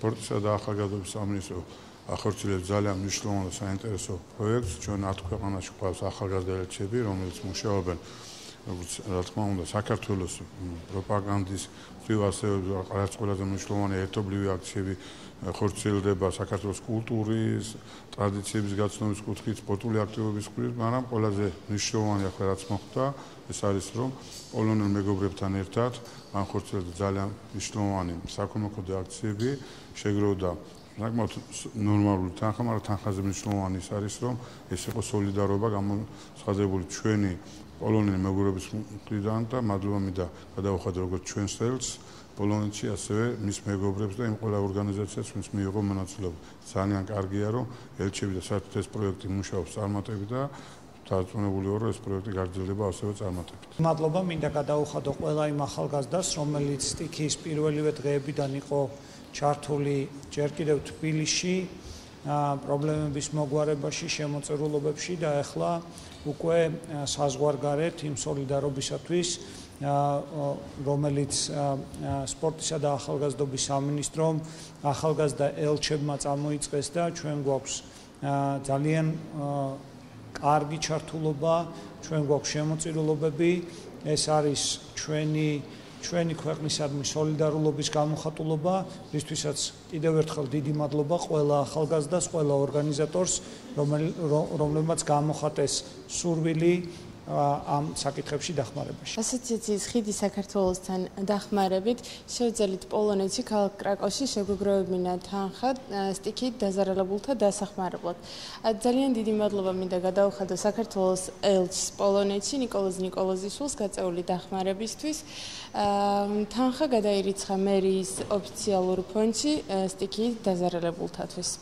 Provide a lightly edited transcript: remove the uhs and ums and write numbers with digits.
სპორტისა და ახალგაზრდობის სამინისტრო ახორციელებს ძალიან მნიშვნელოვან და საინტერესო პროექტს. ჩვენ 10 ქვეყანაში გვყავს ახალგაზრდა ელჩები, რომელიც მუშაობენ რა თქმა უნდა საქართველოს პროპაგანდის მხრივ ასევე რაც ყველაზე მნიშვნელოვანი ერთობლივი აქციები ხორციელდება საქართველოს კულტურის, ტრადიციების გაცნობის კუთხით, სპორტული აქტივობების კუთხით, მაგრამ ყველაზე მნიშვნელოვანი ახლა რაც მოხდა, ეს არის რომ პოლონელ მეგობრებთან ერთად მან ხორციელდა ძალიან მნიშვნელოვანი საქველმოქმედო აქციები, შეგროვდა საკმაოდ ნორმალური თანხა, მაგრამ თანხაზე მნიშვნელოვანი ის არის რომ ეს იყო სოლიდარობა გამოცხადებული ჩვენი პოლონელი მეგობრების მხრიდან და მადლობა მინდა გადავუხადო როგორც ჩვენ წელს პოლონეთში ასევე მის მეგობრებს და იმ ყველა ორგანიზაციას ვინც მიიღო მონაწილეობა. ძალიან კარგია რომ ელჩები და საერთოდ ეს პროექტი მუშაობს წარმატებით და დარწმუნებული ვარ რომ ეს პროექტი გაგრძელდება ასევე წარმატებით. მადლობა მინდა გადავუხადო ყველა იმ ახალგაზრდას რომელიც სტიქიის პირველივე დღეებიდან იყო ჩართული ჯერ კიდევ თბილისში პრობლემების მოგვარებაში, შემოწირულობებში და ახლა უკვე საზღვარგარეთ იმ სოლიდარობისათვის, რომელიც სპორტისა და ახალგაზრდობის სამინისტრომ ახალგაზრდა ელჩებმა წამოიწყეს და ჩვენ გვაქვს ძალიან კარგი ჩართულობა, ჩვენ გვაქვს შემოწირულობები, ეს არის ჩვენი ქვეყნისადმი სოლიდარულობის გამოხატულობა, რისთვისაც კიდევ ერთხელ დიდი მადლობა ყველა ახალგაზრდას, ყველა ორგანიზატორს, რომლებმაც გამოხატეს სურვილი ამ საკითხებში დახმარებაში. ასოციაციის ხიდი საქართველოსთან დახმარებით შევძელით პოლონეთში ქალაქ კრაკოვში შეგვიგროვებინა თანხა სტიქიით დაზარალებულთა დასახმარებლად. ძალიან დიდი მადლობა მინდა გადავუხადო საქართველოს ელჩს პოლონეთში ნიკოლოზ ნიკოლოზიშვილს გაწეული დახმარებისთვის. თანხა გადაირიცხა მერიის ოფიციალურ ფონდში სტიქიით დაზარალებულთათვის.